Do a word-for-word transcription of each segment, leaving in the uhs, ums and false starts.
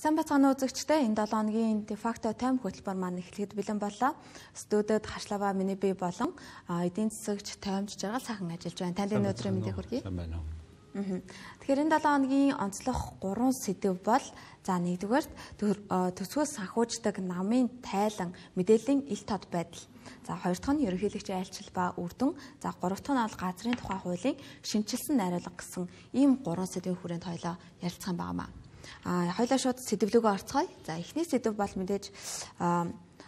Сайн бацгааны үзэгчдээ энэ долоо хоногийн дефакто тайм хөтөлбөр маань эхлэхэд бэлэн боллоо. Студид Хашлава миний бие болон эдийн засагч таймч жаргал сайхан ажиллаж байна. Танд энэ өдрийн мэндийг хүргэе. Тэгэхээр энэ долоо хоногийн онцлог гурван сэдэв бол за нэгдүгээр төсвөөс санхүүждэг намын тайлан мэдээллийн ил тод байдал. За хоёр дахь нь ерөнхийлөгчийн айлчил ба үр дүн. За гурав дахь нь бол газрын тухай хуулийн шинжилсэн найруулга гэсэн ийм гурван сэдвийн хүрээнд хоёлоо ярилцсан байнамаа. А хоёлаа шууд сэдвлөгөө орцгоё. За эхний сэдв бол мэдээж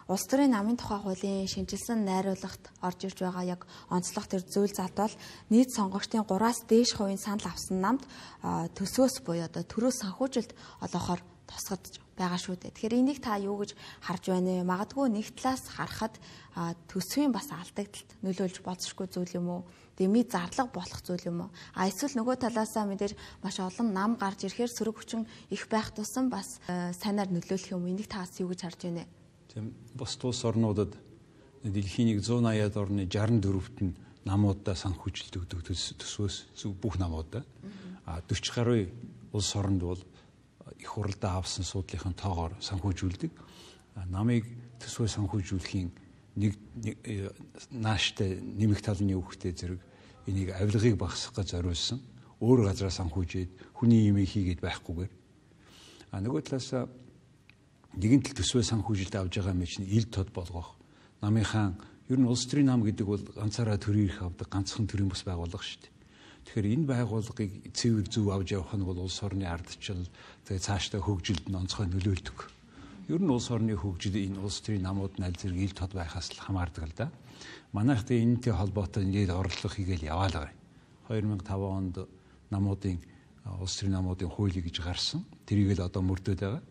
улс төрийн намын тухай хуулийн шинжилсэн найруулгад орж ирж байгаа яг онцлог төр зүйл зат бол нийт сонгогчдын гураас дээш хувийн санал авсан намд төсвөөс буюу одоо төрөөс санхүүжилт олоохоор тусгаж байгаа шүү дээ. Тэгэхээр энийг та юу гэж харж байна вэ? Магадгүй нэг талаас харахад төсвийн бас алдагдлалд нөлөөлж болзошгүй зүйл юм уу? Дэмий зарлага болох зүйл юм уу? А эсвэл нөгөө талаасаа мэдээж маш олон нам гарч ирэхээр сөрөг хүчин их байх тусам бас сайнаар нөлөөлөх юм. Энийг та бас юу гэж харж байна вэ? Тийм бус тус орнуудад дэлхийн зуун аяад орны шестьдесят дөрөвт нь намуудаа санхүүжилт өгдөг төсвөөс бүх намуудаа. А дөрвөн гаруй улс оронд бол их хуралдаа авсан суудлынхын тоогоор санхүүжүүлдэг. Намыг төсвөө санхүүжүүлэхийн нэг нааштай нэмэх талны үгтэй зэрэг энийг авилгыг багасгах гэж зориулсан. Өөр газараа санхүүжээд хүний юм хийгээд байхгүйгээр. А нөгөө талаас нэгэн тал төсвөө санхүүжилт авж байгаа мэт чинь ил тод болгох. Намынхаа ер нь улс төрийн нам гэдэг бол ганцаараа төрийн эрх авдаг ганцхан төрийн бас байгууллага шүү дээ. Тэгэхээр энэ байгууллагыг цэвэр зөв авч явах нь бол улс орны ардчил тэгээ цаашдаа хөгжилд нь онцгой нөлөөлдөг. Ер нь улс орны хөгжил энэ улс төрийн намууд нь аль зэрэг ил тод байхаас л хамаардаг л да. Манайх тэ энэтэй холбоотой ингээд орлого хийгээл яваал байгаа. хоёр мянган таван онд намуудын улс төрийн намуудын хуулийг гэж гарсан. Тэрийг л одоо мөрдөд байгаа.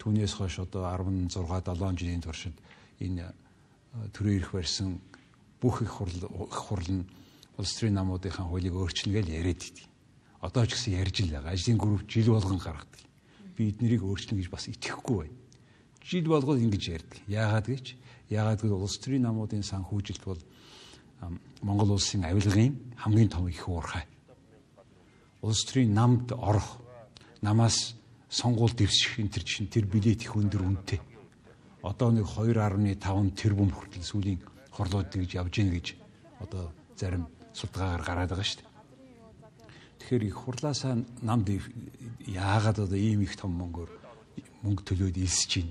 Түүнээс хойш одоо арван зургаа долоон жилийн туршид энэ төрийн эрх барьсан бүх их хурл их хурл нь улс төрийн намуудынхаа хуулийг өөрчилнө гэж яриад идэв. Одоо ч гэсэн ярьж л байгаа. Ажлын групп жил болгон гаргадаг. Би эднэрийг өөрчилнө гэж бас итгэхгүй байна. Жил болгоод ингэж ярьдаг. Яагаад гэж? Яагаад гэвэл улс төрийн намуудын санхүүжилт бол Монгол улсын авилгын хамгийн том их уурхай. Улс төрийн намд орох, намаас сонгуул дэвсэх энэ төр чинь тэр билет их өндөр үнэтэй. Одоо нэг хоёр гаруй таван тэрбум хүртэл сүүлийн хорлоод гэж явж гин гэж одоо зарим судалгаагаар гараад байгаа шүү дээ. Тэгэхээр их хурлаасаа намд яагаад одоо ийм их том мөнгөөр мөнгө төлөөд илсэж гин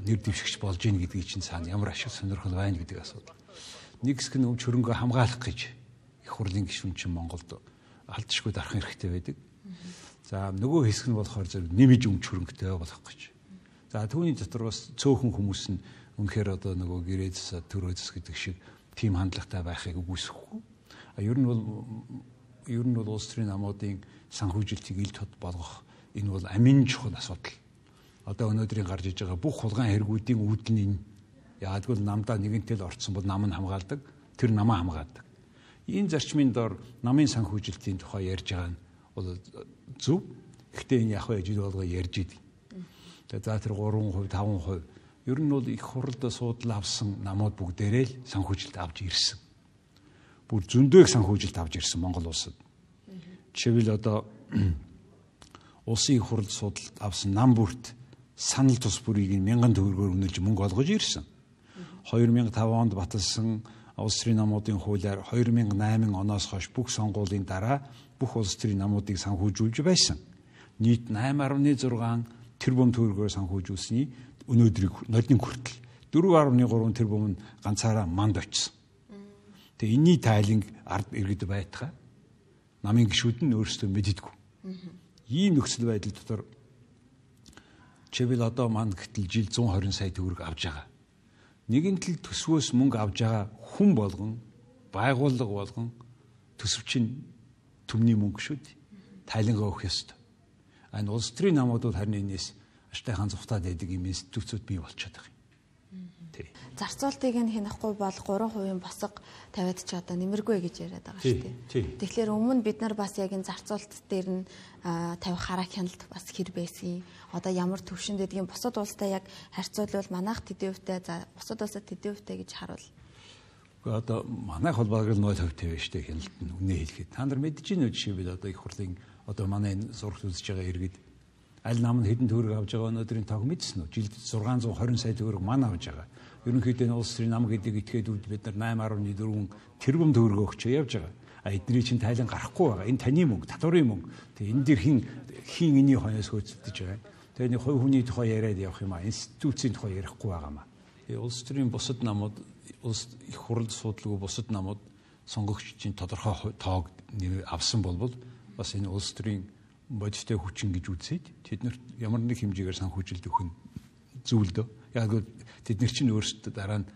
нэр дэвшигч болж гин гэдгийг чинь цаана ямар ашиг сонирхол байна гэдэг асуудал. Нэг хэсэг нь өмч хөрөнгө хамгаалах гэж их хурлын гишүүн чинь Монголд алдшгүй дарах хэрэгтэй байдаг. За нөгөө хэсэг нь болохоор зөв нэмж өмч хөрөнгөтэй болох гэж. За түүний дотор бас цөөхөн хүмүүс нь үнэхээр одоо нөгөө гэрээ засаа төрөө зас гэдэг шиг тийм хандлагатай байхыг үгүйсэхгүй. А ер нь бол ер нь бол улс төрийн намуудын санхүүжилтийг ил тод болгох энэ бол амин чухал асуудал. Одоо өнөөдрийн гарч иж байгаа бүх хулгайн хэрэгүүдийн үүдэл нь энэ. Яагад гэвэл намдаа нэгэнтэй л орцсон бол нам нь хамгаалдаг, тэр намаа хамгаадаг. Энэ зарчмын дор намын санхүүжилтийн тухай ярьж байгаа нь бол зөв. Гэхдээ энэ яг хөө жил болгоо ярьж идэв. Тэгээ за тэр гурван хувь, таван хувь ер нь бол их хуралд суудлаа авсан намууд бүгдээрээ л санхүүжилт авч ирсэн. Бүр зөндөөх санхүүжилт авч ирсэн Монгол улсад. Жишээлбэл одоо улсын их хуралд суудлаа авсан нам бүрт санал тус бүрийг мянган төгрөгөөр үнэлж мөнгө олгож ирсэн. хоёр мянган таван онд баталсан улс төрийн намуудын хуулиар хоёр мянган найман оноос хойш бүх сонгуулийн дараа бүх улс төрийн намуудыг санхүүжүүлж байсан. Нийт найман гаруй зургаан тэрбум төгрөгөөр санхүүжүүлсэний өнөөдрийг нодны хүртэл дөрвөн гаруй гурван тэрбум нь ганцаараа манд очсон. Тэгээ энэний тайланг ард иргэд байтхаа намын гишүүд нь өөрсдөө мэддэггүй. Ийм нөхцөл байдал дотор чивэл одоо манд гэтэл жил зуун хорин сая төгрөг авж байгаа. Нэгэн тал төсвөөс мөнгө авж байгаа хүн болгон, байгууллага болгон төсөвчин төмний мөнгө шүү дээ. Тайлангаа өгөх ёстой. Энэ улс төрийн намууд бол харин энэс аштайхан зүхтаад байдаг юм институцүүд бий болчиход байгаа юм. Тий. Зарцуултыг нь хянахгүй бол гурван хувийн босго тавиад ч одоо нэмэргүй гэж яриад байгаа шүү дээ. Тэгэхээр өмнө бид нар бас яг энэ зарцуулт дээр нь тавих хараа хяналт бас хэр байсан. Одоо ямар төвшөнд гэдгийг бусад улстай яг харьцуулбал манайх тэдэн хувьтай за бусад улсад тэдэн хувьтай гэж харуул. Одоо манайх бол бараг л нөл хувь тавь штэ хяналт нь үнэ хэлэхэд. Та нар мэдэж байна уу жишээлбэл одоо их хурлын одоо манай энэ зурагт үзэж байгаа иргэд аль нам нь хэдэн төгрөг авж байгаа өнөөдрийн тоог мэдсэн үү? Жилд зургаан зуун хорин сая төгрөг мань авж байгаа. Ерөнхийдөө улс төрийн нам гэдэг этгээдүүд бид нар найман гаруй дөрвөн тэрбум төгрөг өгч явж байгаа. А эдний чинь тайлан гарахгүй байгаа. Энэ таны мөнгө, татварын мөнгө. Тэгээ энэ дэр хин хин энэний хойноос хөөцөлдөж байгаа. Тэгээ нэг хувь хүний тухай яриад явах юм а. Институцийн тухай ярихгүй байгаа маа. Тэгээ улс төрийн бусад намууд, улс их хурал судалгүй бусад намууд сонгогчдын тодорхой тоог авсан болбол бас энэ улс төрийн бодиттой хүчин гэж үзээд тэднэрт ямар нэг хэмжээгээр санхүүжилт өгөх нь зүйл дөө. Яг тэд нар чинь өөрсдөө дараа нь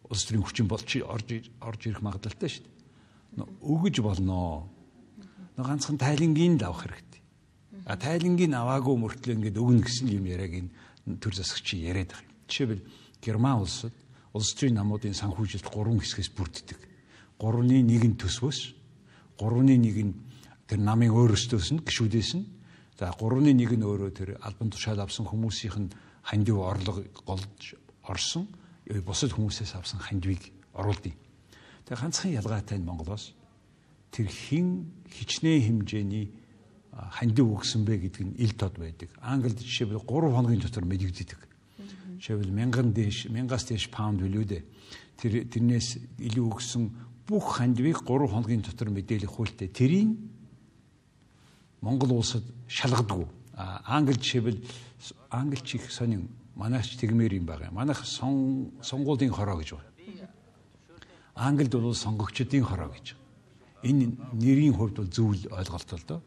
улс төрийн хүчин болж орж орж ирэх магадлалтай шүү дээ. Өгөж болно. Нэг ганцхан тайлангийн л авах хэрэгтэй. А тайлангийн аваагүй мөртлөө ингээд өгнө гэсэн юм яриаг энэ төр засагч яриад байгаа юм. Жишээлбэл Герман улсад улс төрийн намуудын санхүүжилт гурван хэсгээс бүрддэг. Гурваны нэг нь төсвөөс, гурваны нэг нь тэр намын өөрөөсөөс нь гишүүдээс нь, за гурваны нэг нь өөрөө тэр албан тушаал авсан хүмүүсийнх нь хандив орлого голж орсон, бусад хүмүүсээс авсан хандивыг оруулдаг. Тэгээ ганцхан ялгаатай нь Монголоос тэр хин хичнээн хэмжээний хандив өгсөн бэ гэдэг нь ил тод байдаг. Англид жишээлбэл гурван хоногийн дотор мэдэгддэг. Жишээлбэл мянган дээш, мянгаас дээш паунд билүү дээ. Тэр тэрнээс илүү өгсөн бүх хандивыг гурван хоногийн дотор мэдээлэх хуультай. Тэрийг Монгол улсад шалгадаг. Англи жишээлбэл англич их сонин манайч тэгмээр юм байгаа. Манайх сон сонгуулийн хороо гэж байна. Англид бол сонгогчдын хороо гэж. Энэ нэрийн хувьд бол зөв ойлголттой л доо.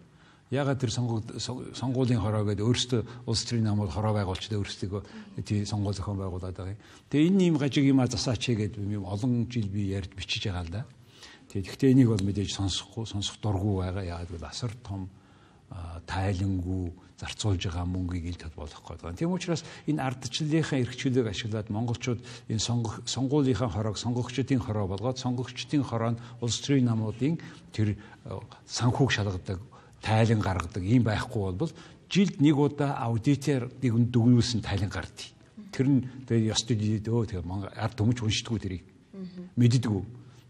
Ягаад тэр сонгуулийн хороо гэдэг өөрсдөө улс төрийн намууд хороо байгуулчдаа өөрсдөө тий сонгуул зохион байгуулад байгаа юм. Тэгээ энэ юм гажиг юм а засаач гэдэг юм олон жил би ярьж бичиж байгаа л да. Тэгээ гэхдээ энийг бол мэдээж сонсохгүй, сонсох дургүй байгаа. Ягаад гэвэл асар том тайлангүй зарцуулж байгаа мөнгийг ил тод болох гэдэг. Тийм учраас энэ ардчлалынхаа эрхчлөлийг ашиглаад монголчууд энэ сонгуулийнхаа хороог сонгогчдын хороо болгоод сонгогчдын хороо нь улс төрийн намуудын тэр санхүүг шалгадаг, тайлан гаргадаг юм байхгүй бол жилд нэг удаа аудитор нэг дүгнүүлсэн тайлан гардыг. Тэр нь тэгээд ёс төдий өө тэгээд ард түмч уншдаггүй тэрийг. Мэддэггүй.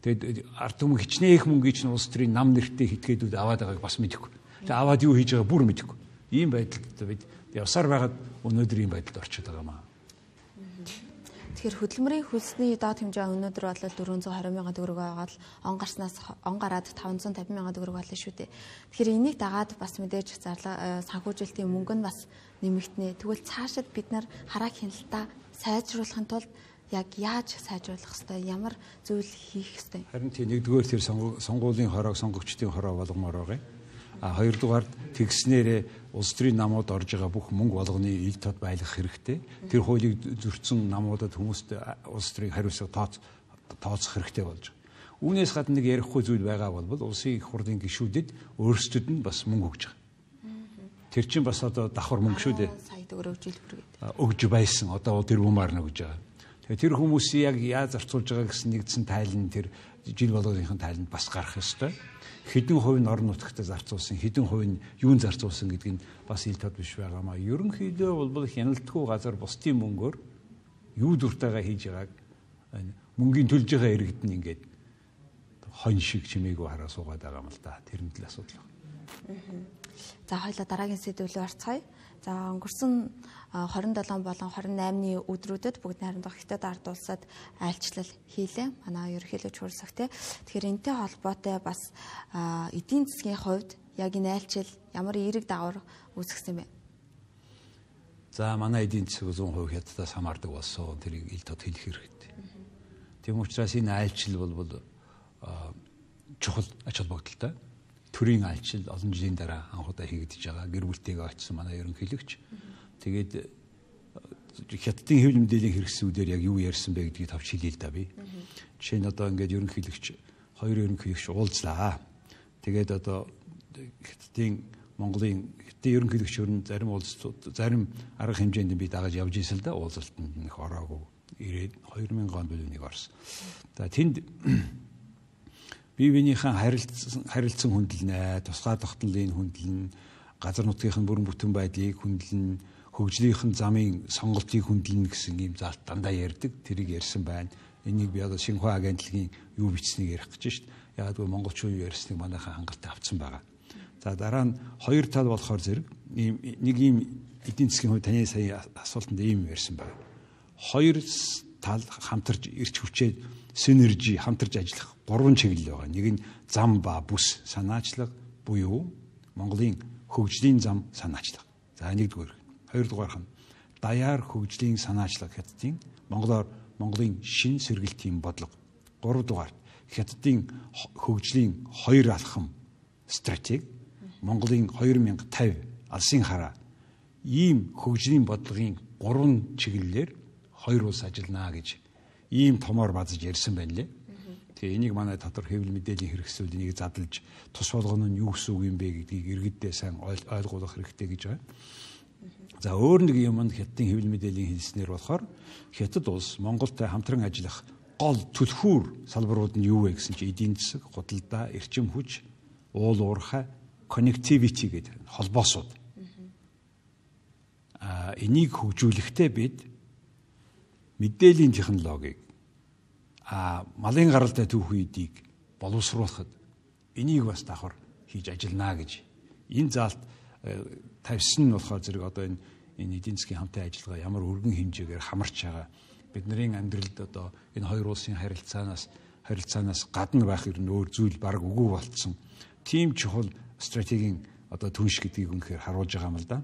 Тэгээд ард түмэн хичнээн их мөнгө чинь улс төрийн нам нэртэй хэтгээдүүд аваад байгааг бас мэдэхгүй. Тэгээд аваад юу хийж байгааг бүр мэдэхгүй. Ийм байдалд бид явсаар байгаад өнөөдөр ийм байдалд орчиход байгаа маа. Тэгэхээр хөдөлмөрийн хөлсний доод хэмжээ өнөөдөр бол дөрвөн зуун харин мянган төгрөг байгаа л он гарснаас он гараад таван зуун тавин мянган төгрөг болно шүү дээ. Тэгэхээр энийг дагаад бас мэдээж зарлаа санхүүжилтийн мөнгө нь бас нэмэгдэнэ. Тэгвэл цаашид бид нар хараа хяналтаа сайжруулахын тулд яг яаж сайжруулах хэвээр ямар зүйл хийх хэвээр. Харин тийм нэгдүгээр тэр сонгуулийн хороог сонгогчдын хороо болгомоор байгаа. А хоёрдугаар тэгснээрээ улс төрийн намууд орж байгаа бүх мөнгө болгоны ил тод байлгах хэрэгтэй. Тэр хуулийг зөрчсөн намуудад хүмүүст улс төрийн хариуцлага тооцох хэрэгтэй болж байгаа. Үүнээс гадна нэг ярихгүй зүйл байгаа бол улсын их хурлын гишүүдэд өөрсдөд нь бас мөнгө өгж байгаа. Тэр чинь бас одоо давхар мөнгө шүү дээ. Сая төгрөг жилбэр гэдэг. Өгж байсан. Одоо тэр бумаар нөгөж байгаа. Тэгэхээр тэр хүмүүсийг яг яаж зарцуулж байгаа гэсэн нэгдсэн тайлан тэр жил болгоныхын тайланд бас гарах ёстой. Хэдэн хувь нь орон нутагт зарцуулсан, хэдэн хувь нь юунд зарцуулсан гэдэг нь бас ил тод биш байгаамаа. Ерөнхийдөө бол хяналтгүй газар бусдын мөнгөөр юу дуртайгаа хийж байгааг мөнгөний төлж байгаа иргэд нь ингээд хон шиг чимээгүй хараа суугаад байгаа юм л да. Тэр нь л асуудал байна. За хоёлаа дараагийн сэдвүүл орцгоё. За өнгөрсөн хорин долоон болон хорин наймны өдрүүдэд бүгд найрамдах Хятад ард улсад айлчлал хийлээ. Манай ерөнхийлөгч хурлсах те. Тэгэхээр энэтэй холбоотой бас эдийн засгийн хувьд яг энэ айлчил ямар эерэг дагавар үүсгэсэн бэ? За манай эдийн засаг зуун хувь Хятадаас хамаардаг болсон. Тэрийг ил тод хэлэх хэрэгтэй. Тийм учраас энэ айлчил бол чухал ач холбогдолтой. Төрийн айлчил олон жилийн дараа анхудаа хийгдэж байгаа. Гэр бүлтэйгээ очсон манай ерөнхийлөгч. Тэгээд Хятадын хэвлэл мэдээллийн хэрэгсүүдээр яг юу ярьсан бэ гэдгийг тавч хэлээ л да би. Жишээ нь одоо ингээд ерөнхийлөгч хоёр ерөнхийлөгч уулзлаа. Тэгээд одоо Хятадын Монголын Хятадын ерөнхийлөгчөр нь зарим уулзалтууд зарим арга хэмжээнд би дагаж явж ирсэн л да уулзалтанд нэг ороогүй ирээд хоёр мянган он билүүнийг орсон. За тэнд бие биенийхэн харилцсан харилцсан хүндэлнэ, тусгай тогтнолын хүндэлнэ, газар нутгийн бүрэн бүтэн байдлыг хүндэлнэ, хөгжлийнхэн замын сонголтыг хүндэлнэ гэсэн ийм заалт дандаа ярьдаг. Тэрийг ярьсан байна. Энийг би одоо Шинхua агентлагийн юу бичснийг ярих гэж шít. Яг л монголчууд юу ярьсныг манайхан хангалттай авцсан байгаа. За дараа нь хоёр тал болохоор зэрэг ийм нэг ийм эдийн засгийн хувьд таны сая асуултанд ийм ярьсан байна. Хоёр тал хамтарч ирч хүчээд синержи хамтарч ажиллах гурван чиглэл байгаа. Нэг нь зам ба бүс санаачлага буюу Монголын хөгжлийн зам санаачлага. За нэгдүгээр. Хоёрдугаарх нь даяар хөгжлийн санаачлага хятадын Монголоор Монголын шин сэргэлтийн бодлого. Гуравдугаар хятадын хөгжлийн хоёр алхам стратеги Монголын хоёр мянга тавь алсын хараа ийм хөгжлийн бодлогын гурван чиглэлээр хоёр улс ажиллана гэж ийм томоор базж ярьсан байна лээ. Тэгээ энийг манай дотор хэвлэл мэдээллийн хэрэгсэл энийг задлж тус болгоно нь юу гэсэн үг юм бэ гэдгийг иргэддээ сайн ойлгуулах хэрэгтэй гэж байна. За өөр нэг юм нь хятадын хэвлэл мэдээллийн хэлснээр болохоор хятад улс Монголтой хамтран ажиллах гол түлхүүр салбарууд нь юу вэ гэсэн чинь эдийн засаг, худалдаа, эрчим хүч, уул уурхай, connectivity гэдэг холбоосууд. А энийг хөгжүүлэхдээ бид мэдээллийн технологиг а малын гаралтай түүх үедийг боловсруулахад энийг бас давхар хийж ажиллана гэж энэ заалт тавьсан нь болохоор зэрэг одоо энэ энэ эдийн засгийн хамтын ажиллагаа ямар өргөн хэмжээгээр хамарч байгаа бидний амьдралд одоо энэ хоёр улсын харилцаанаас харилцаанаас гадна байх ер нь өөр зүйл баг үгүй болцсон тийм чухал стратегийн одоо түнш гэдгийг үнэхээр харуулж байгаа юм л да.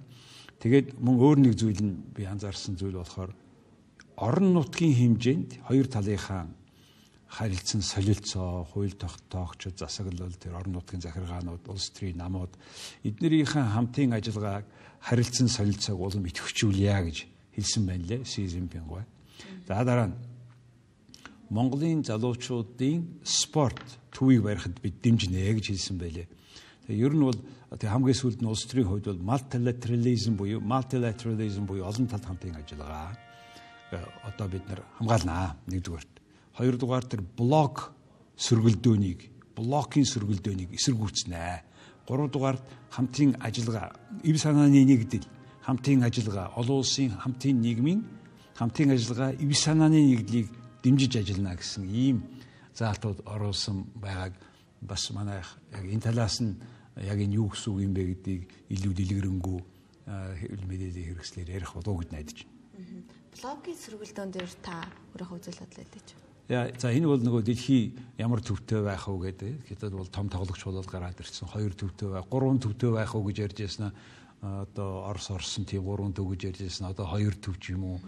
Тэгээд мөн өөр нэг зүйл нь би анзаарсан зүйл болохоор орон нутгийн хэмжээнд хоёр талынхаа харилцан солилцоо, хууль тогтоогчид, засаглал, тэр орон нутгийн захиргаанууд, улс төрийн намууд эднэрийнхээ хамтын ажиллагааг харилцан солилцоог улам идэвхжүүлъя гэж хэлсэн байна лээ Си Цзиньпин гой. За дараа нь Монголын залуучуудын спорт төвийг барихад бид дэмжинэ гэж хэлсэн байлээ. Тэгээ ер нь бол тэг хамгийн сүүлд нь улс төрийн хувьд бол multilateralism буюу multilateralism буюу олон талт хамтын ажиллагаа одоо бид нар хамгаалнаа нэгдүгээр. Хоёрдугаар тэр блок сөргөлдөөнийг, блокийн сөргөлдөөнийг эсэргүүцнэ. Гуравдугаар хамтын ажиллагаа, эв санааны нэгдэл, хамтын ажиллагаа, олон улсын хамтын нийгмийн хамтын ажиллагаа, эв санааны нэгдлийг дэмжиж ажиллана гэсэн ийм заалтууд оруулсан байгааг бас манай яг энэ талаас нь яг энэ юу гэсэн үг юм бэ гэдгийг илүү дэлгэрэнгүй хэвлэл мэдээллийн хэрэгслээр ярих болов уу гэж найдаж байна. Блогийн сөргөлдөөн дээр та өөрийнхөө үзэл бодлоо хэлээч. Яа, за энэ бол нөгөө дэлхий ямар төвтэй байх уу гэдэг. Хятад бол том тоглогч болоод гараад ирсэн. Хоёр төвтэй байх, гурван төвтэй байх уу гэж ярьж яснаа. Одоо Орос орсон тийм гурван төв гэж ярьж яснаа. Одоо хоёр төв ч юм уу.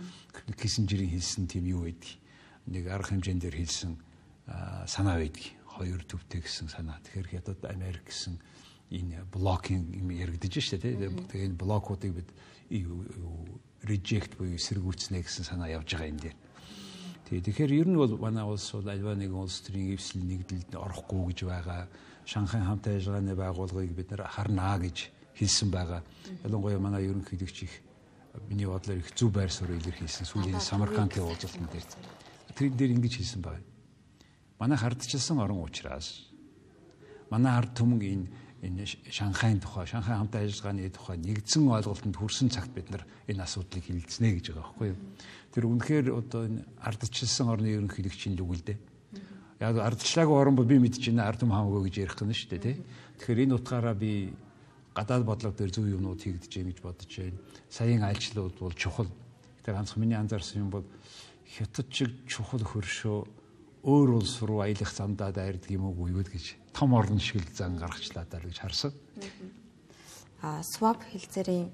Киссинжерийн хэлсэн тийм юу байдгийг. Нэг арга хэмжээнд дээр хэлсэн санаа байдгийг. Хоёр төвтэй гэсэн санаа. Тэгэхээр Хятад, Америк гэсэн энэ блокийн юм яригдаж штэ тийм. Тэгээ энэ блокуудыг бид reject буюу эсэргүүцнэ гэсэн санаа явж байгаа юм дээр. Тэгэхээр ер нь бол манай улс бол альва нэгэн улс төрийн эвсэл нэгдэлд орохгүй гэж байгаа. Шанхай хамтын ажиллагааны байгууллагыг бид нар харнаа гэж хэлсэн байгаа. Ялангуяа манай ерөнхийлөгч их миний бодлоор их зөв байр суурь илэрхийлсэн сүүлийн Самаркандын уулзалтын дээр. Тэрэн дээр ингэж хэлсэн байна. Манай хардчилсан орон учраас манай ард түмэн энэ энэ Шанхайн тухай, Шанхай хамтын ажиллагааны тухай нэгдсэн ойлголтод хүрсэн цагт бид нар энэ асуудлыг хилцнэ гэж байгаа байхгүй юу? Тэр үнэхээр одоо энэ ардчилсан орны ерөнхийлөгчийн л үгэлдэ. Яг ардчлаагүй орн бол би мэдэж байна ард түмэн хамаагүй гэж ярих гэнэ шүү дээ тий. Тэгэхээр энэ утгаараа би гадаад бодлого дээр зөв юмнууд хийгдэж байна гэж бодож байна. Саяын айлчлалууд бол чухал. Тэр ганцхан миний анзаарсан юм бол Хятад шиг чухал хөршөө өөр улс руу аялах замдаа дайрдаг юм уу юу гэж том орн шиг л зан гаргачлаа даа гэж харсан. А swap хэлцээрийн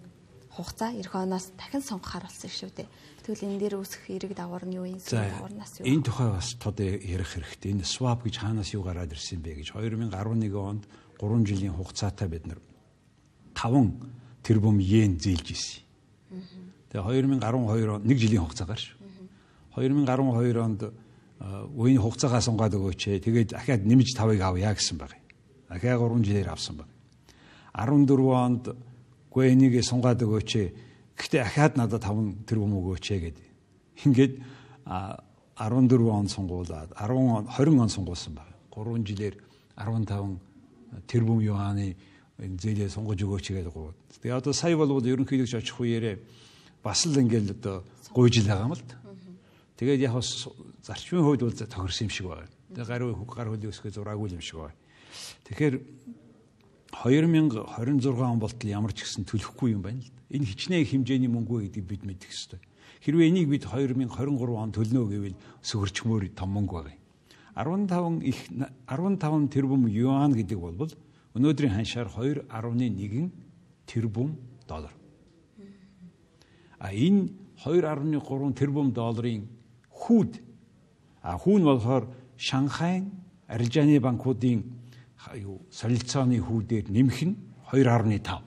хугацаа эх оноос дахин сонгохаар болсон шүү дээ. Тэгвэл энэ дээр үүсэх эрэг давар нь юу юм? Даварнаас юу? Энэ тухай бас тод ярих хэрэгтэй. Энэ swap гэж хаанаас юу гараад ирсэн бэ гэж хоёр мянга арван нэгэн онд гурван жилийн хугацаатай бид нар таван тэрбум йен зээлж ирсэн. Тэгээ хоёр мянга арван хоёр онд нэг жилийн хугацаагаар шүү. хоёр мянга арван хоёр онд үеийн хугацаагаа сунгаад өгөөч. Тэгээд дахиад нэмж тавыг авъя гэсэн баг. Дахиад гурван жилээр авсан баг. арван дөрвөн онд гүй энийг сунгаад өгөөч. Гэхдээ дахиад надад таван тэрбум өгөөч гэдэг. Ингээд арван дөрвөн он сунгуулад арван он хорин он сунгуулсан баг. гурван жилээр арван таван тэрбум юаны зээлээ сунгаж өгөөч гэдэг гоо. Тэгээ одоо сая болвол ерөнхийлөгч очих үеэрээ бас л ингээд одоо гуйж л байгаа юм л да. Тэгээд яг бас зарчмын хувьд бол тохирсон юм шиг байна. Тэгээд гар гар хөлөө өсгөө зураагүй юм шиг байна. Тэгэхээр хоёр мянга хорин зургаан он болтол ямар ч гэсэн төлөхгүй юм байна л да. Энэ хичнээн хэмжээний мөнгө гэдгийг бид мэдэх ёстой. Хэрвээ энийг бид хоёр мянга хорин гурван он төлнө гэвэл сөхөрчмөр том мөнгө байна. арван таван их арван таван тэрбум юан гэдэг бол өнөөдрийн ханшаар хоёр нугтай нэг тэрбум доллар. А энэ хоёр нугтай гурван тэрбум долларын хүүд а хүүн болохоор Шанхайн арилжааны банкуудын юу солилцооны хүүдээр нэмэх нь хоёр нугтай тав.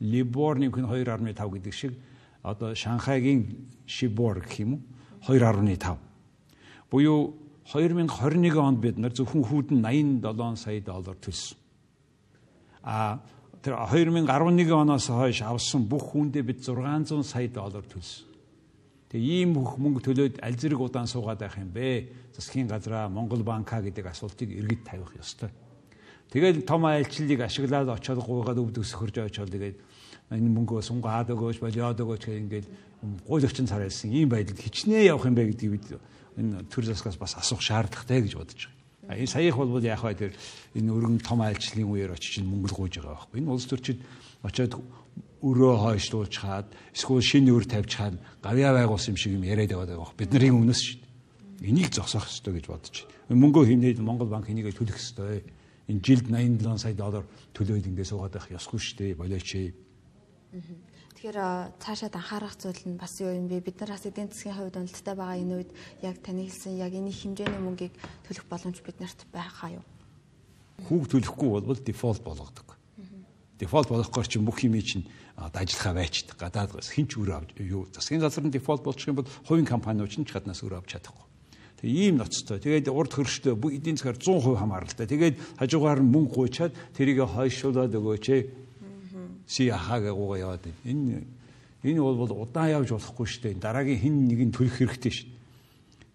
Либор нэмэх нь хоёр нугтай тав гэдэг шиг одоо Шанхайгийн Шибор гэх юм уу хоёр нугтай тав. Буюу хоёр мянга хорин нэг онд бид нар зөвхөн хүүд нь найман долоон сая доллар төлсөн. А тэр хоёр мянга арван нэг оноос хойш авсан бүх хүндээ бид зургаан зуун сая доллар төлсөн. Тэгээ ийм бүх мөнгө төлөөд аль зэрэг удаан суугаад байх юм бэ? Засгийн газраа Монгол банка гэдэг асуултыг эргэж тавих ёстой. Тэгээд том айлчлалыг ашиглаад очоод гуйгаад өвд өсгөрж очоод тэгээд энэ мөнгөө сунгаад өгөөч, болиод өгөөч гэх ингээд гуйл өчн царайлсан ийм байдалд хичнээн явах юм бэ гэдгийг бид энэ төр засгаас бас асуух шаардлагатай гэж бодож байгаа. А энэ саях бол яг хаа тэр энэ өргөн том айлчлалын үеэр очиж мөнгө гуйж байгаа байхгүй. Энэ улс төрчид очоод өрөө хойшлуулж хаад эсвэл шинэ өр тавьж хаад гавьяа байгуулсан юм шиг юм яриад байгаа байхгүй. Бид нарын өмнөөс шүү дээ. Энийг зогсоох ёстой гэж бодож байна. Мөнгөө хийнээд Монгол банк энийг төлөх ёстой. Энэ жилд найман долоон сая доллар төлөөд ингэ суугаад байх ёсгүй шүү дээ. Болооч. Тэгэхээр цаашаад анхаарах зүйл нь бас юу юм бэ? Бид нар бас эдийн засгийн хувьд уналттай байгаа энэ үед яг таны хэлсэн яг энэ хэмжээний мөнгийг төлөх боломж биднэрт байгаа юу? Хүүг төлөхгүй бол дефолт болгодог. Дефолт болгохоор чинь бүх юм чинь ажиллахаа байчдаг. Гадаад хинч өөр авч юу засгийн газар нь дефолт болчих юм бол хувийн компаниуд чинь ч гаднаас өөр авч чадахгүй. Тэгээ ийм ноцтой. Тэгээд урд хөрштэй эдийн засгаар зуун хувь хамааралтай. Тэгээд хажуугаар нь мөнгө гуйчаад тэрийг хойшуулаад өгөөч ээ. Си ахаага гуйгаа яваад энэ энэ бол удаан явж болохгүй шүү дээ. Дараагийн хин нэг нь төлөх хэрэгтэй шүү дээ.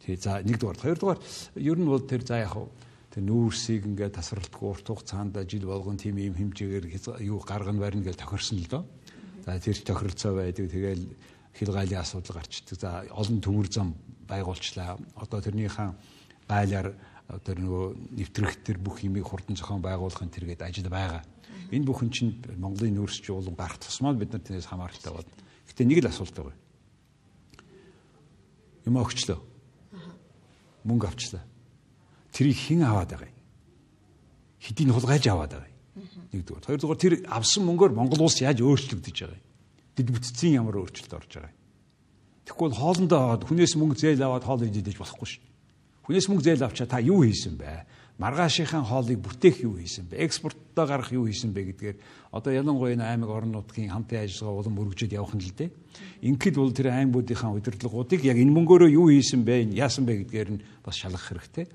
Тэгээ за нэгдүгээр, хоёрдугаар ер нь бол тэр за яг тэр нүүрсийг ингээд тасралтгүй урт хугацаанд жил болгон тийм ийм хэмжээгээр юу гаргана барина гэж тохирсон л доо. За тэр ч тохиролцоо байдаг. Тэгээл хил гайлын асуудал гарчдаг. За олон төмөр зам байгуулчлаа. Одоо тэрнийхэн гайлаар тэр нөгөө нэвтрэх тэр бүх юмыг хурдан зохион байгуулахын тэргээд ажил байгаа. Энэ бүхэн чинь Монголын нүүрсч уулан гарах тусмаа бид нар тэрнээс хамааралтай байна. Гэтэ нэг л асуулт байгаа. Юм өгчлөө. Мөнгө авчлаа. Тэрийг хэн аваад байгаа юм? Хэдийн хулгайлж аваад байгаа юм? Нэгдүгээр. Хоёрдугаар тэр авсан мөнгөөр Монгол улс яаж өөрчлөгдөж байгаа юм? Дэд бүтцийн ямар өөрчлөлт орж байгаа юм? Тэгэхгүй бол хоолндоо аваад хүнээс мөнгө зээл аваад хоол идэж болохгүй шүү. Хүнээс мөнгө зээл авчаа та юу хийсэн бэ? Маргаашийнхаа хоолыг бүтээх юу хийсэн бэ? Экспорттоо гарах юу хийсэн бэ гэдгээр одоо ялангуяа энэ аймаг орон нутгийн хамтын ажиллагаа улам өргөжөд явах нь л дээ. Ингээд бол тэр аймагуудынхаа удирдлагуудыг яг энэ мөнгөөрөө юу хийсэн бэ? Яасан бэ гэдгээр нь бас шалгах хэрэгтэй.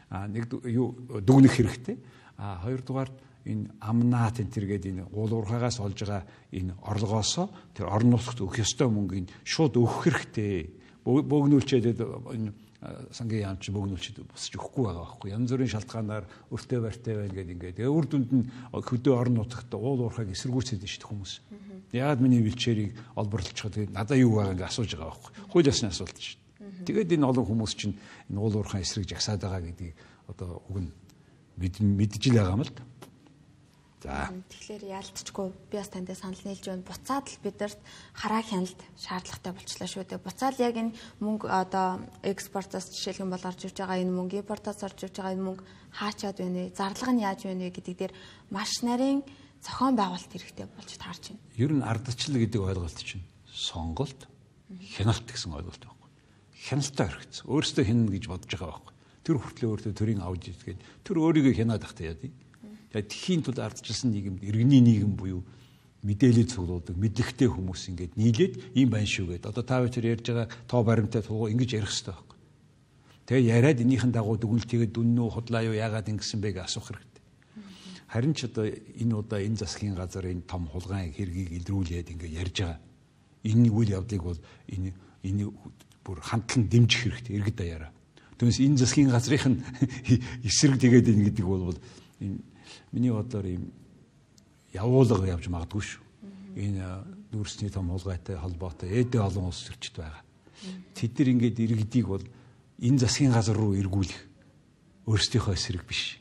А нэг юу дүгнэх хэрэгтэй. А хоёрдугаар энэ амнат энэ тэргээд энэ уул уурхаагаас олж байгаа энэ орлогоосоо тэр орон нутагт өгөх ёстой мөнгөийг шууд өгөх хэрэгтэй. Бөөгнүүлчээд энэ сангийн яамч бөөгнүүлчид босч өгөхгүй байгаа байхгүй. Янз бүрийн шалтгаанаар өртөө барьтай байна гэдэг ингээд. Тэгээ үр дүнд нь хөдөө орон нутагт уул уурхааг эсэргүүцээд шүү дээ хүмүүс. Яагаад миний вилчээрийг олборлолцоход тэгээ надаа юу байгаа ингээд асууж байгаа байхгүй. Хууль ёсны асуулт шүү дээ. Тэгээд энэ олон хүмүүс чинь энэ уул уурхайн эсрэг жагсаад байгаа гэдгийг одоо уг нь мэдж л байгаа юм л да. За. Тэгэхээр яалтчгүй би бас танд санал нийлж байна. Буцаад л бидэрт хараа хяналт шаардлагатай болчихлоо шүү дээ. Буцаад яг энэ мөнгө одоо экспортоос жишээлхэн бол орж иж байгаа энэ мөнгө, импортоос орж иж байгаа энэ мөнгө хаачаад байна вэ? Зарлага нь яаж байна вэ гэдэг дээр маш нарийн зохион байгуулалт хэрэгтэй болж таарч байна. Ер нь ардчлал гэдэг ойлголт чинь сонголт, хяналт гэсэн ойлголт байхгүй. Хяналтаа хэрэгцээ. Өөрөөсөө хянана гэж бодож байгаа байхгүй. Тэр хүртлээ өөртөө төрийн авж идгээд тэр өөрийгөө хянаад ахтай яа тий. Тэгээд тхийн тулд ардчилсан нийгэмд иргэний нийгэм буюу мэдээлэл цуглуулдаг мэдлэгтэй хүмүүс ингээд нийлээд ийм байна шүү гэдэг. Одоо та бүхэн ярьж байгаа тоо баримттай тулгуу ингэж ярих хэрэгтэй байхгүй. Тэгээ яриад энийхэн дагуу дүгнэлтийгээ дүннүү худлаа юу яагаад ингэсэн бэ гэж асуух хэрэгтэй. Харин ч одоо энэ удаа энэ засгийн газар энэ том хулгайн хэргийг илрүүлээд ингээд ярьж байгаа. Энэ үйл явдлыг бол энэ энэ бүр хамтлан дэмжих хэрэгтэй иргэд даяараа. Түүнээс энэ засгийн газрын эсрэг тэгээд ин гэдэг бол энэ миний бодлоор ийм явуулга явж магадгүй шүү. Энэ нүүрсний том хулгайтай холбоотой эдэ олон улс төрчд байгаа. Тэд нар ингээд иргэдийг бол энэ засгийн газар руу эргүүлэх өөрсдийнхөө эсрэг биш.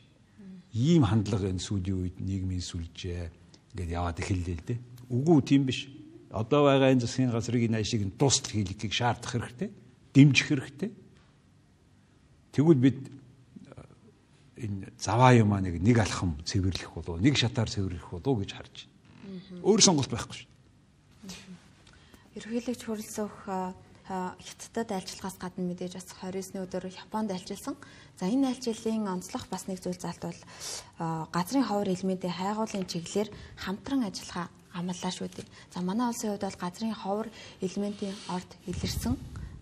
ийм хандлага энэ сүүлийн үед нийгмийн сүлжээ ингээд яваад эхэллээ л дээ. Үгүй тийм биш. Одоо байгаа энэ засгийн газрыг энэ ашиг нь дуустал хийлгэхийг шаардах хэрэгтэй. Дэмжих хэрэгтэй. Тэгвэл бид энэ заваа юм аа нэг нэг алхам цэвэрлэх болов нэг шатаар цэвэрлэх болов гэж харж байна. Өөр сонголт байхгүй шүү. Ерөнхийлөгч Хүрэлцөх Хятадд айлчлагаас гадна мэдээж бас двадцать девятны өдөр Японд айлчилсан. За энэ айлчлалын онцлог бас нэг зүйл залтвал газрын ховор элементийн хайгуулын чиглэлээр хамтран ажиллахаа амлаа шүү дээ. За манай улсын хувьд бол газрын ховор элементийн орд илэрсэн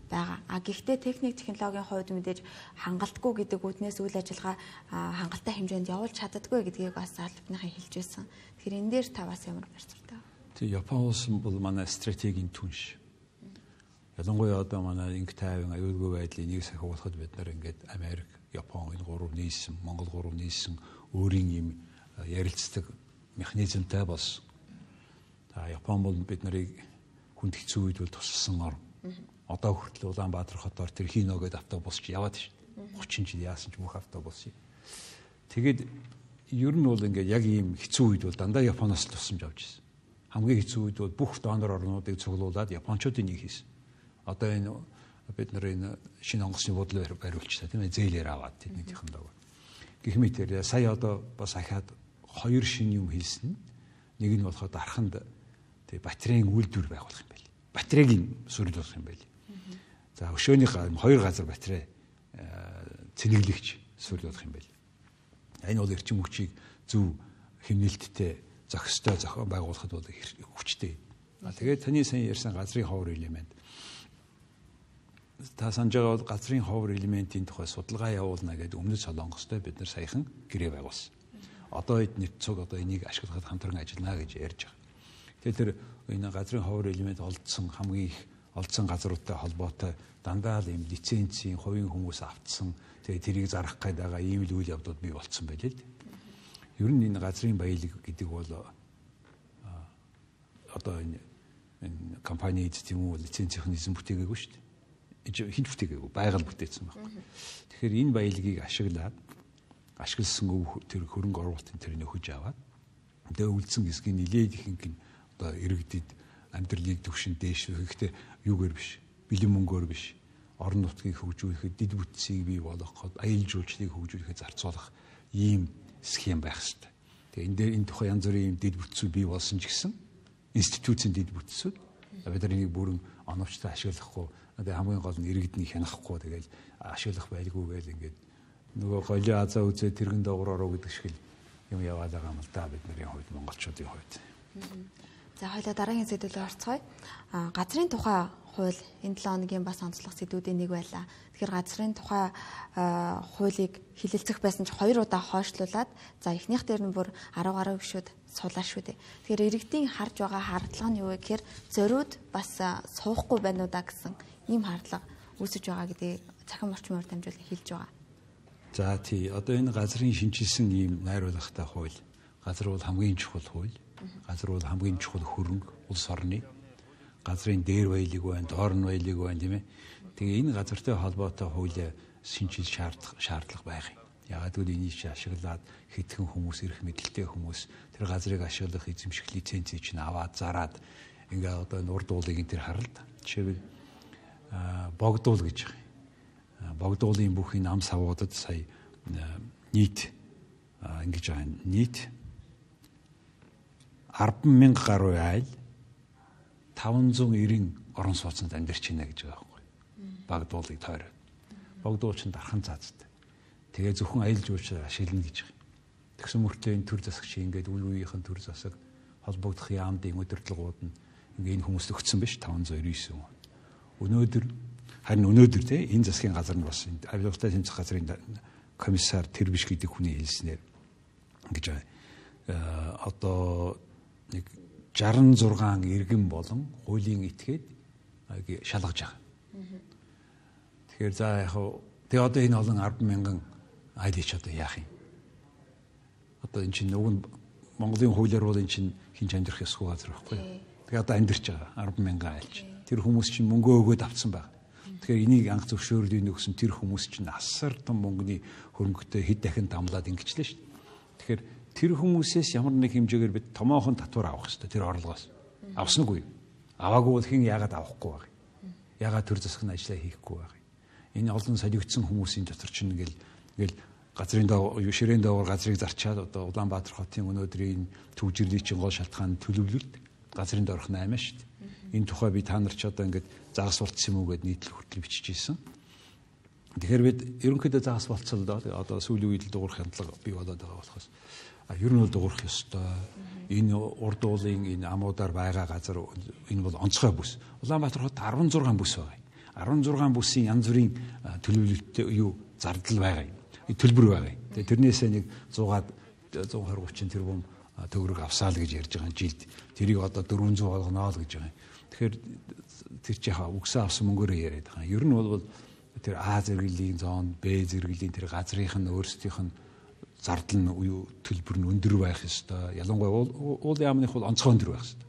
байгаа. А гэхдээ техник технологийн хувьд мэдээж хангалтгүй гэдэг үднээс үйл ажиллагаа хангалттай хэмжээнд явуулж чаддаггүй гэдгийг бас албаныхан хэлж байсан. Тэгэхээр энэ дээр та бас ямар барьцтай вэ? Тэг Япон улс бол манай стратегийн түнш. Ялангуяа одоо манай инх тайван аюулгүй байдлыг нэг сахиулахад бид нар ингээд Америк, Япон энэ гурав нийлсэн, Монгол гурав нийлсэн өөрийн юм ярилцдаг механизмтай болсон. За Япон бол бид нарыг хүнд хэцүү үед бол тусалсан орн. Одоо хүртэл Улаанбаатар хотоор тэр Хино гэдэг автобус ч яваад шин. тридцать жил яасан ч бүх автобус. Тэгээд ер нь бол ингээд яг ийм хэцүү үед бол дандаа Японоос л тусламж авч ирсэн. Хамгийн хэцүү үед бол бүх донор орнуудыг цуглуулад Япончуудын нэг хийсэн. Одоо энэ бид нар энэ шинэ онгоцны бодлоо бариулчихлаа тийм ээ зээлээр аваад тэднийхэн дог. Гэх мэтээр сая одоо бас ахаад хоёр шинэ юм хийсэн. Нэг нь болоход арханд тэг батарейн үйлдвэр байгуулах юм байл. Батарейг сүрүүлэх юм байл. За өшөөний хоёр газар батарей цэнэглэгч сүрүүлэх юм байл. Энэ бол эрчим хүчийг зөв хэмнэлттэй зохистой зохион байгуулахад бол хүчтэй. Тэгээд таны сайн ярьсан газрын ховор элемент. Та санаж байгаа бол газрын ховор элементийн тухай судалгаа явуулна гэдэг өмнөд Солонгостой бид нар саяхан гэрээ байгуулсан. Одоо эднийт цуг одоо энийг ашиглахад хамтран ажиллана гэж ярьж байгаа. Тэгэхээр тэр энэ газрын ховор элемент олдсон хамгийн их олдсон газруудтай холбоотой дандаа л юм лицензийн хувийн хүмүүс автсан. Тэгээ тэрийг зарах гээд байгаа ийм л үйл явдлууд бий болцсон байлээ л. Ер нь энэ газрын баялаг гэдэг бол одоо энэ компани эзэм үү лицензийн эзэн бүтээгээгүй шүү дээ. Хинт бүтээгээгүй байгаль бүтээсэн байна. Тэгэхээр энэ баялагийг ашиглаад ашигласан тэр хөрөнгө оруулалтын тэр нөхөж аваад тэгээ үлдсэн хэсгийг нилээд ихэнх нь одоо иргэдэд амьдралыг төвшин дээш гэхдээ юугаар биш бэлэн мөнгөөр биш орон нутгийг хөгжүүлэхэд дид бүтцийг бий болгоход аялал жуулчлалыг хөгжүүлэхэд зарцуулах ийм схем байх хэрэгтэй. Тэгээ энэ дээр энэ тухай янз бүрийн дид бүтцүүд бий болсон ч гэсэн институцийн дид бүтцүүд бид нар энийг бүрэн оновчтой ашиглахгүй одоо хамгийн гол нь иргэдний хянахгүй тэгэл ашиглах байлгүй гэл ингээд нөгөө голио азаа үзээ тэрхэн доогоор ороо гэдэг шиг юм яваад байгаа юм л да бид нарын хувьд монголчуудын хувьд. За хоёлаа дараагийн сэдвээр орцгоё. А газрын тухай хууль энэ долоо хоногийн бас онцлог сэдвүүдийн нэг байлаа. Тэгэхээр газрын тухай хуулийг хилэлцэх байсан ч хоёр удаа хойшлуулад за эхнийх дээр нь бүр арга гаруй гişүүд суулаа шүү дээ. Тэгэхээр иргэдийн харж байгаа хардлага нь юу вэ гэхээр зориуд бас суухгүй байна уу да гэсэн ийм хардлага үүсэж байгаа гэдгийг цахим орчмоор дамжуулан хэлж байгаа. За тий одоо энэ газрын шинжилсэн ийм найруулгатай хууль. Газар бол хамгийн чухал хууль. Газар бол хамгийн чухал хөрөнгө улс орны. Газрын дээр баялаг байна, доор нь баялаг байна тийм ээ. Тэгээ энэ газартай холбоотой хуулийг шинжил шаардлага шаардлага байх юм. Яагаад гэвэл энийг ашиглаад хэдхэн хүмүүс ирэх мэдлэлтэй хүмүүс тэр газрыг ашиглах эзэмших лицензийг чинь аваад зараад ингээ одоо урд уулыг энэ төр харалт. Жишээлбэл богдуул гэж байгаа. Богдуулын бүх энэ ам савуудад сая нийт ингэж байгаа нийт арван мянга гаруй айл таван зуун нэрийн орон сууцнд амьдарч байна гэж байгаа байхгүй. Богдуулыг тойроод. Богдуул чинь дархан заацтай. Тэгээ зөвхөн аялал жуулчлал ашиглана гэж байгаа. Тэгсэн мөртлөө энэ төр засагч ингээд үе үеийнхэн төр засаг холбогдох яамдын удирдлагууд нь ингээд энэ хүмүүст өгсөн биш таван зуун девять он. Өнөөдөр харин өнөөдөр те энэ засгийн газар нь бас авилгатай тэмцэх газрын комиссар тэр биш гэдэг хүний хэлснээр ингэж байгаа. Одоо нэг шестьдесят шесть иргэн болон хуулийн этгээд шалгаж байгаа. Тэгэхээр за яг тэгээ одоо энэ олон арван мянган айлч одоо яах юм? Одоо энэ чинь нөгөө Монголын хуулиар бол энэ чинь хинж амьдрах ёсгүй газар байхгүй. Тэгээ одоо амьдарч байгаа арван мянган айлч. Тэр хүмүүс чинь мөнгөө өгөөд авцсан байна. Тэгэхээр энийг анх зөвшөөрлийг өгсөн тэр хүмүүс чинь асар том мөнгөний хөрөнгөтэй хэд дахин дамлаад ингэчлээ шүү дээ. Тэгэхээр тэр хүмүүсээс ямар нэг хэмжээгээр бид томоохон татвар авах хэрэгтэй тэр орлогоос. Авснаггүй. Аваагүй бол хэн яагаад авахгүй байх. Яагаад төр засгийн ажлаа хийхгүй байх. Энэ олон солигдсон хүмүүсийн дотор чинь ингээл ингээл газрын доо ширээн доогоор газрыг зарчаад одоо Улаанбаатар хотын өнөөдрийн төвжирлийн чинь гол шалтгаан төлөвлөлт газрын доорх наймаа шүү дээ. Энэ тухай би та нар ч одоо ингээд загас болцсон юм уу гэд нийтлэл хүртэл бичижсэн. Тэгэхээр бид ерөнхийдөө загас болцолдоо одоо сүүлийн үед л дуурах хандлага бий болоод байгаа болохоос а ер нь бол дуурах ёстой. Энэ урд уулын энэ амуудаар байгаа газар энэ бол онцгой бүс. Улаанбаатар хот арван зургаан бүс байгаа. арван зургаан бүсийн янз бүрийн төлөвлөлттэй юу зардал байгаа юм. Төлбөр байгаа. Тэгээ тэрнээсээ нэг сто зуун тэрбум төгрөг авсаа л гэж ярьж байгаа жилд. Тэрийг одоо дөрвөн зуун болгоно л гэж байгаа. Тэгэхээр тэр чи яхаа үгсээ авсан мөнгөөрөө яриад байгаа. Ер нь бол тэр А зэрэглэлийн зон, Б зэрэглэлийн тэр газрынх нь өөрсдийнх нь зардал нь юу төлбөр нь өндөр байх ёстой. Ялангуяа уулын яамных бол онцгой өндөр байх ёстой.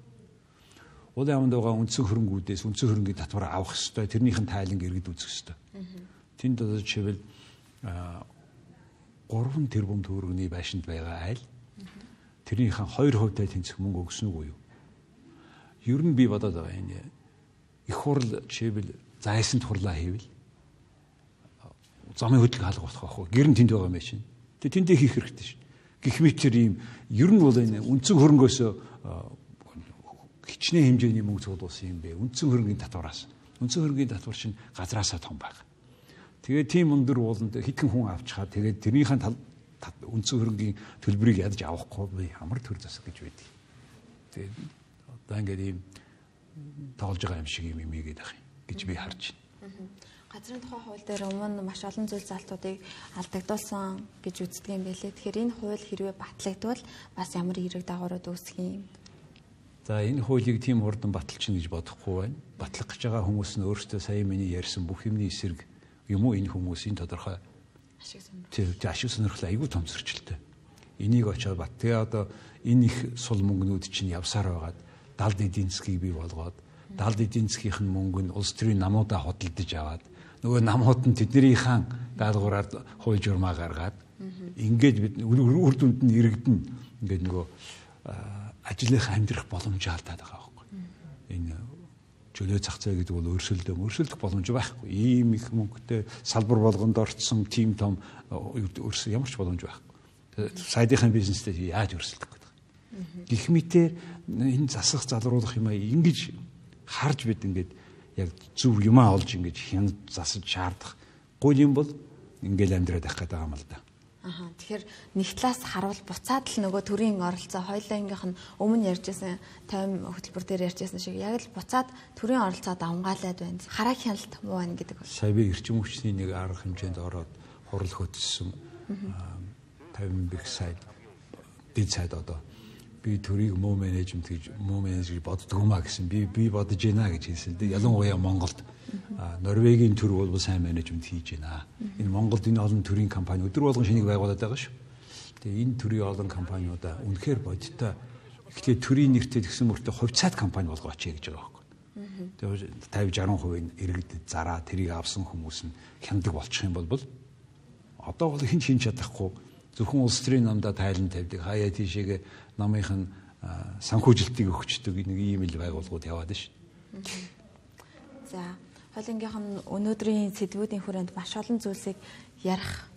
Уулын яамд байгаа үндсэн хөрөнгүүдээс үндсэн хөрөнгийн татвар авах ёстой. Тэрнийхэн тайланг иргэд үзэх ёстой. Тэнд одоо жишээл гурван тэрбум төгрөгийн байшинд байгаа айл тэрнийхэн хоёр хувьтай тэнцэх мөнгө өгсөн үү юу? Ер нь би бодоод байгаа энэ их хурл жишээл зайсан турлаа хийвэл замын хөдөлгөөн хаалга болох байхгүй. Гэр нь тэнд байгаа юм байна. Тэгээ тэндээ хийх хэрэгтэй шин. Гэх мэт тэр ийм ер нь бол энэ үндсэн хөрөнгөөс хичнээн хэмжээний мөнгө цуглуулсан юм бэ. Үндсэн хөрөнгөний татвараас. Үндсэн хөрөнгөний татвар чинь газраасаа том байна. Тэгээ тийм өндөр ууланд хитгэн хүн авчихаа тэгээд тэрнийхэн үндсэн хөрөнгөний төлбөрийг ядаж авахгүй би ямар төр засаг гэж байдгийг. Тэгээд одоо ингээд ийм тоолж байгаа юм шиг юм юм ийгээд ах юм гэж би харж байна. Газрын тухай хууль дээр өмнө маш олон зүйл залтуудыг алдагдуулсан гэж үздэг юм байлээ. Тэгэхээр энэ хууль хэрвээ батлагдвал бас ямар хэрэг дагаврууд үүсэх юм? За энэ хуулийг тийм хурдан баталчихна гэж бодохгүй байна. Батлах гэж байгаа хүмүүс нь өөрсдөө сая миний ярьсан бүх юмний эсрэг юм уу энэ хүмүүсийн тодорхой ашиг сонирхол. Тэр ашиг сонирхол айгүй том зөрчилтэй. Энийг очоод бат. Тэгээ одоо энэ их сул мөнгнүүд чинь явсаар байгаад далд эдийн засгийг бий болгоод далд эдийн засгийнх нь мөнгө нь улс төрийн намуудаа хөдөлдөж аваад нөгөө намууд нь тэднийхэн даалгавраар хууль журмаа гаргаад ингээд бид үр дүнд нь иргэдэн ингээд нөгөө ажлынхаа амьдрах боломжоо алдаад байгаа байхгүй. Энэ чөлөө зах зээл гэдэг бол өрсөлдөө өрсөлдөх боломж байхгүй. Ийм их мөнгөтэй салбар болгонд орцсон тим том өрсөл ямар ч боломж байхгүй. Сайдынхаа бизнестэй яаж өрсөлдөх гэдэг. Гэх мэтээр энэ засах залруулах юм аа ингэж харж бид ингээд яг зөв юмаа олж ингэж хянд засаж шаардах гол юм бол ингээл амьдраад байх гэдэг юм л да. Аха. Тэгэхээр нэг талаас харуул буцаад л нөгөө төрийн оролцоо хоёулангийнх нь өмнө ярьжсэн тайм хөтөлбөр дээр ярьжсэн шиг яг л буцаад төрийн оролцоо давмгаалаад байна. Хараа хяналт муу байна гэдэг бол. Сая би эрчим хүчний нэг арга хэмжээнд ороод хурал хөтөлсөн тавин бих сайд дэд сайд одоо би төрийг муу менежмент гэж муу менеж гэж боддог юм а гэсэн би би бодож байна гэж хэлсэн. Ялангуяа Монголд Норвегийн төр бол сайн менежмент хийж байна. Энэ Монголд энэ олон төрийн компани өдөр болгон шинийг байгуулад байгаа шүү. Тэгээ энэ төрийн олон компаниудаа үнэхээр бодиттой ихтэй төрийн нэртэй тэгсэн мөртөө хувьцаат компани болгооч гэж байгаа байхгүй. Тэгээ пятьдесят шестьдесят хувийн иргэдэд зараа тэрийг авсан хүмүүс нь хяндаг болчих юм бол одоо бол хэн шинж чадахгүй зөвхөн улс төрийн намдаа тайлан тавьдаг хаяа тийшээгээ намынх нь санхүүжилтийг өгчдөг нэг ийм л байгууллагууд яваад шүү. За хоолынгийнх нь өнөөдрийн сэдвүүдийн хүрээнд маш олон зүйлсийг ярих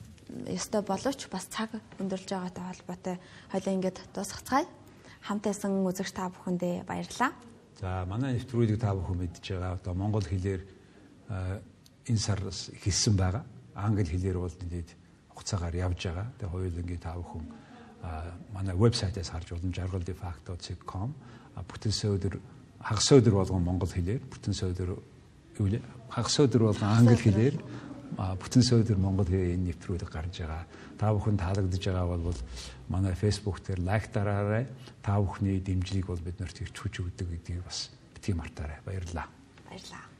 ёстой боловч бас цаг өндөрлж байгаатай холбоотой хойлоо ингээд дуусгацгаая. Хамтайсан үзэгч та бүхэндээ баярлалаа. За манай нэвтрүүлгийг та бүхэн мэдж байгаа. Одоо монгол хэлээр энэ сар хэлсэн байгаа. Англи хэлээр бол нэгэд хугацаагаар явж байгаа. Тэгээ хоёулангийн та бүхэн манай вебсайтаас харж болно жаргал de facto dot com бүтэн сөөдөр хагас өдөр болгон монгол хэлээр бүтэн сөөдөр юу вэ хагас өдөр болгон англи хэлээр бүтэн сөөдөр монгол хэлээр энэ нэвтрүүлэг гарч байгаа. Та бүхэн таалагдж байгаа бол манай Facebook дээр лайк дараарай. Та бүхний дэмжлэг бол биднэрт ирч хүч өгдөг гэдгийг бас битгий мартаарай. Баярлалаа. Баярлалаа.